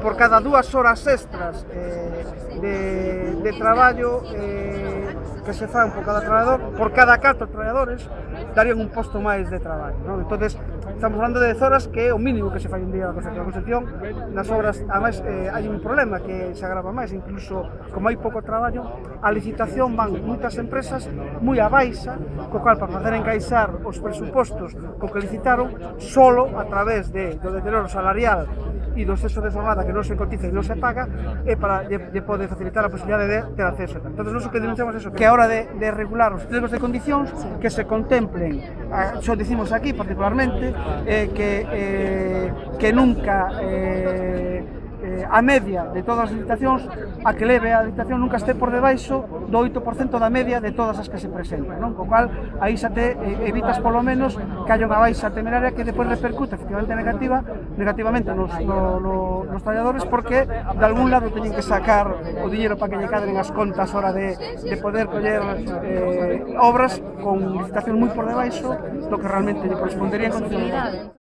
por cada 2 horas extras de traballo que se fan por cada traballador, por cada 4 traballadores darían un posto máis de traballo, non? Entonces, estamos falando de 10 horas que é o mínimo que se fai un día na construcción. Nas obras, ademais, hai un problema que se agrava máis, incluso como hai pouco traballo, a licitación van moitas empresas moi a baixa, co cual para facer encaixar os presupostos co que licitaron, solo a través do deterioro salarial e do exceso de jornada que non se cotiza e non se paga, é para poder facilitar a posibilidade de ter acceso. Entón, nós o que denunciamos é eso, que a hora de regular os pliegos de condicións, que se contemplen, xo dicimos aquí particularmente, que nunca a media de todas as licitacións, a que leve a licitación nunca este por debaixo do 8% da media de todas as que se presentan, non? Co cual, aí xa te evitas polo menos que haya unha baixa temeraria que depois repercute efectivamente negativamente nos traballadores, porque de algún lado teñen que sacar o diñeiro para que lle cadren as contas a hora de poder coller obras con licitación moi por debaixo do que realmente lle correspondería en condicións.